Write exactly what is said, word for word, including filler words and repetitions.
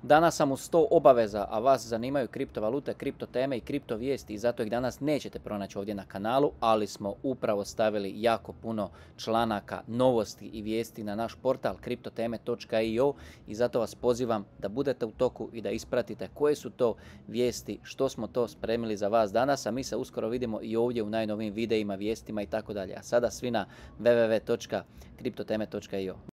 Danas sam u sto obaveza, a vas zanimaju kriptovalute, kripto teme i kripto vijesti i zato ih danas nećete pronaći ovdje na kanalu, ali smo upravo stavili jako puno članaka, novosti i vijesti na naš portal kriptoteme točka io i zato vas pozivam da budete u toku i da ispratite koje su to vijesti, što smo to spremili za vas danas, a mi se uskoro vidimo i ovdje u najnovijim videima, vijestima i tako dalje. A sada svi na w w w točka kriptoteme točka io.